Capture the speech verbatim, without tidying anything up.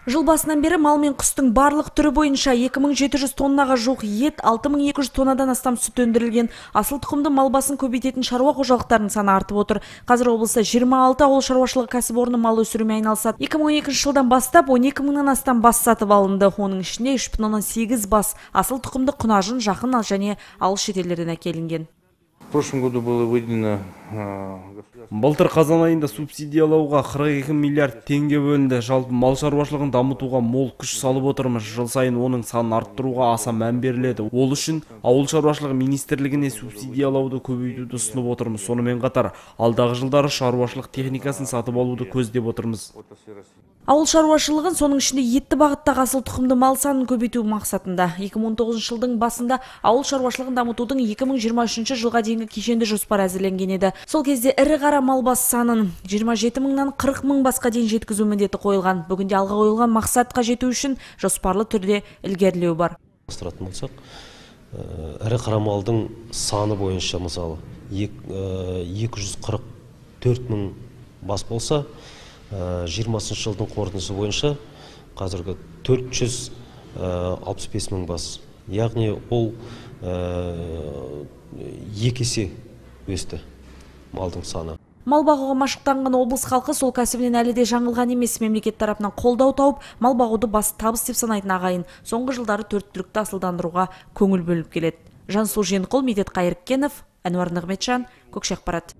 Жыл басынан бері мал мен құстың барлық түрі бойынша екі мың жеті жүз тоннаға жуық ет, алты мың екі жүз тоннадан астам сүт өндірілген. Асыл тұқымды мал басын көбейтетін шаруа қожалықтарының саны артып отыр. Қазір облыста жиырма алты ауыл шаруашылығы кәсіпорны мал өсірумен айналысады. екі мың он екінші жылдан бастап он екі мыңнан астам бас сатып алынды. Оның ішінде үш бүтін оннан сегіз бас асыл тұқымды құнажын жақын және алыс шетелдерден әкелінген. В прошлом году было выделено... Былтыр қазан айында субсидиялауға қырық екі миллиард теңге бөлінді. Жалпы мал шаруашылығын дамытуға мол күш салып отырмыз. Жыл сайын оның санын арттыруға аса мән беріледі. Ол үшін ауыл шаруашылығы министрлігіне субсидиялауды көбейтуді ұсынып отырмыз. Сонымен қатар, алдағы жылдары шаруашылық техникасын сатып алуды көздеп отырмыз. Ауыл шаруашылығын, соның ішінде етті бағыттағы асыл тұқымды мал санын көбейту мақсатында екі мың он тоғызыншы жылдың басында ауыл шаруашылығын дамытудың екі мың жиырма үшінші жылға дейінгі кешенді жоспар әзірленген еді. Сол кезде ірі қара мал бас санын жиырма жеті мыңнан қырық мың басқа дейін жеткізу міндеті қойылған. Бүгінде алға қойылған мақсатқа жету үшін жоспарлы түрде ілгерілеу бар. Асыратын болсақ, ірі қара малдың саны бойынша мысалы екі жүз қырық төрт мың бас болса, жиырмасыншы жылдың қорытындысы бойынша қазіргі төрт жүз алпыс бес мың бас. Яғни ол екі есе өсті малдың саны. Мал бағуға машықтанған облыс халқы сол кәсібінен әлі де жаңылған емес. Мемлекет тарапынан қолдау тауып, мал бағуды басты табыс деп санайтын ағайын. Соңғы жылдары төрт түлікті асылдандыруға көңіл бөліп келеді. Жансу Женқұл, Медет Қайыркенов, Әнуар Нығметжан, Көкшеқпарат.